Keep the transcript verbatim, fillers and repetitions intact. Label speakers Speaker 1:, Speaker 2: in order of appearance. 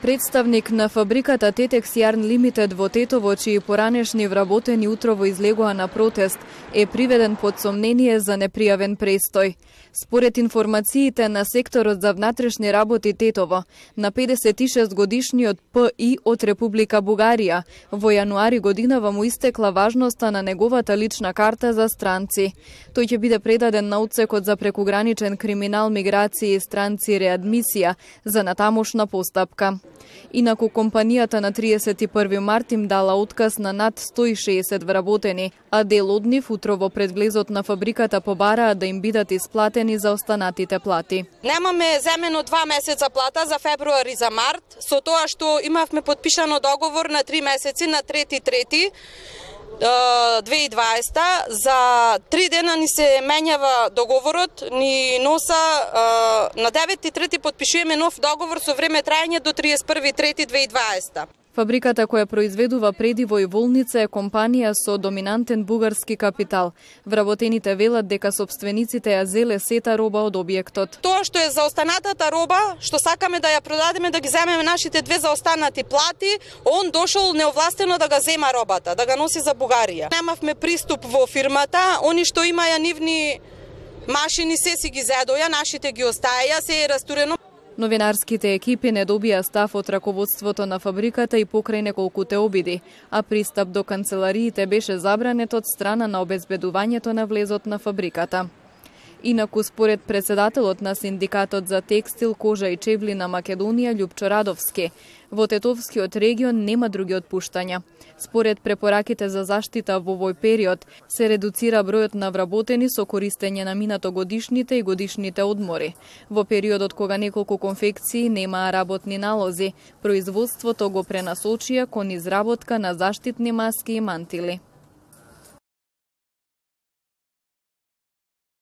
Speaker 1: Представник на фабриката Тетекс Јарн Лимитед во Тетово, чии поранешни вработени утрово излегоа на протест, е приведен под сомнение за непријавен престој. Според информациите на секторот за внатрешни работи Тетово, на педесет и шест годишниот П И од Република Бугарија, во јануари годинава му истекла важноста на неговата лична карта за странци. Тој ќе биде предаден на Одсекот за прекуграничен криминал, миграција и странци реадмисија за натамошна постапка. Инаку компанијата на триесет и први март им дала отказ на над сто и шеесет вработени, а дел од нив утрово пред влезот на фабриката побараа да им бидат исплатени за останатите плати.
Speaker 2: Немаме земено два месеца плата за февруар и за март, со тоа што имавме подпишано договор на три месеци на трети трети две илјади и дваесета. За три дена ни се менјава договорот, ни носа на девети трети подпишуваме нов договор со време трајање до триесет и први трети две илјади и дваесета.
Speaker 1: Фабриката која произведува предиво и волница е компанија со доминантен бугарски капитал. Вработените велат дека собствениците ја зеле сета роба од објектот.
Speaker 2: Тоа што е за останатата роба, што сакаме да ја продадеме, да ги земеме нашите две заостанати плати, он дошол неовластено да га зема робата, да га носи за Бугарија. Немавме приступ во фирмата, они што имаја нивни машини се си ги зедоја, нашите ги остаја, се е растурено.
Speaker 1: Новинарските екипи не добија став од раководството на фабриката и покрај неколкуте обиди, а пристап до канцелариите беше забранет од страна на обезбедувањето на влезот на фабриката. Инаку, според председателот на Синдикатот за текстил, кожа и чевли на Македонија Љупчо Радовски, во Тетовскиот регион нема други отпуштања. Според препораките за заштита во овој период, се редуцира бројот на вработени со користење на минатогодишните и годишните одмори. Во периодот кога неколку конфекции немаа работни налози, производството го пренасочија кон изработка на заштитни маски и мантили.